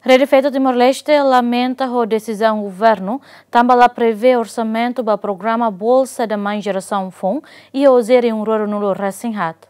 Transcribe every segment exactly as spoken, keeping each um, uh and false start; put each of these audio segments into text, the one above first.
Rede Feto Timor-Leste lamenta ho desizaun governu tanba la prevee orsamentu ba programa Bolsa da Mãe Jerasaun Foun iha oin rihun rua ruanulu-resin-haat.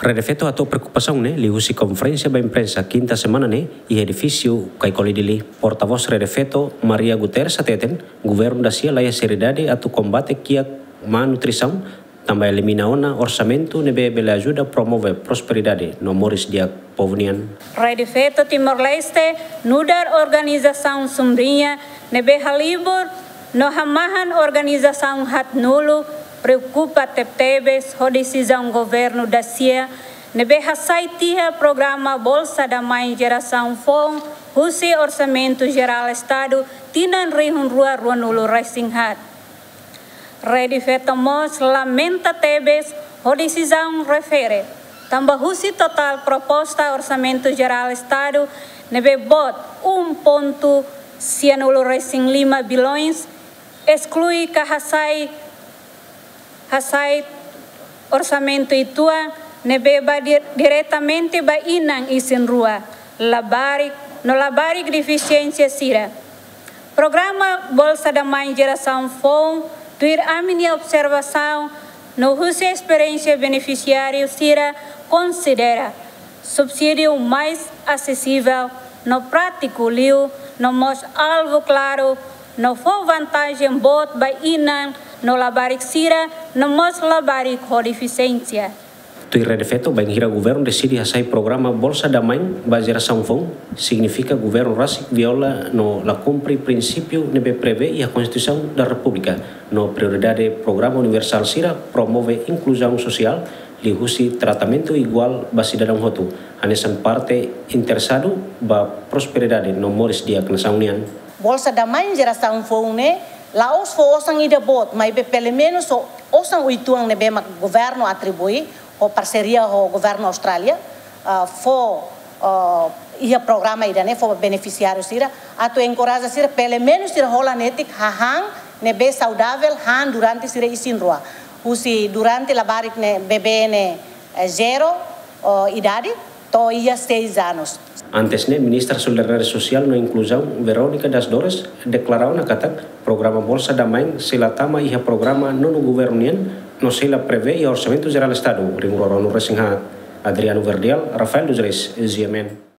Rede Feto hato'o preokupasaun ne'e liuhusi konferénsia ba imprensa kinta semana ne'e iha edifísiu Caicoli Dili. Portavós Rede Feto, Maria Guterres, hateten governu dasia laiha seriedade atu kombate kiak malnutrisaun, tanba elimina ona orsamentu ne'ebé bele ajuda promove prosperidade no moris di'ak povu nian. Rede Feto Timor-Leste nu'udar organizasaun sumbriña ne'ebé halibur no hamahan organizasaun haatnulu preokupa tebetebes ho desizaun governu dasia ne'ebé hasai tiha programa Bolsa da Mãe Jerasaun Foun husi Orsamentu Jerál Estadu tinan rihun rua ruanulu-resin-haat. Rede Feto mós lamenta tebes ho desizaun refere, tanba husi totál proposta Orsamentu Jerál Estadu ne'ebé boot um ponto sianulu-resin-lima bilhões, esklui ka hasai, hasai orsamentu uitoan ne'ebé ba di-, diretamente ba inan isin-rua, labarik no labarik defisiénsia sira. Programa Bolsa da Mãe Jerasaun Foun, tuir ami-nia observasaun no husi esperiénsia benefisiáriu sira, konsidera subsídiu mais asesivel no prátiku liu, no mós alvu klaru, no fó vantajen boot ba inan no labarik sira, no mós labarik ho defisiénsia. Tuir Rede Feto, bainhira governu deside hasai programa Bolsa da Mãe ba jerasaun foun, signifika governu rasik viola no la kumpre prinsípiu ne'ebé prevee iha Konstituisaun da Repúblika, no prioridade programa universál sira promove inkluzaun sosiál, liuhusi tratamentu iguál ba sidadaun hotu, hanesan parte interesadu ba prosperidade no moris di'ak nasaun nian. Bolsa da Mãe Jerasaun Foun ne'e la'ós fó osan ida boot, maibé pelumenus fó osan uitoan ne'ebé mak governu atribui, ho parseria ho governu Austrália, ah, fó, ah, iha programa ida-ne'e, fó benefisiáriu sira, atu enkoraja sira, pelumenus sira hola netik hahán ne'ebé saudavel, han durante sira isin-rua. Husi durante labarik ne'e bebé ne'e, eh, zero, oh, idade, to'o iha seis anos. Antes ne'e, Ministra Solidariedade Sosiál no Inkluzaun, Verónica das Dores, deklara ona katak programa Bolsa da Mãe sei la tama iha programa nonu governu nian, no sei la prevee iha Orsamentu Jerál Estadu rihun rua ruanulu-resin-haat. Adriano Verdial, Rafael dos Reis, G M N.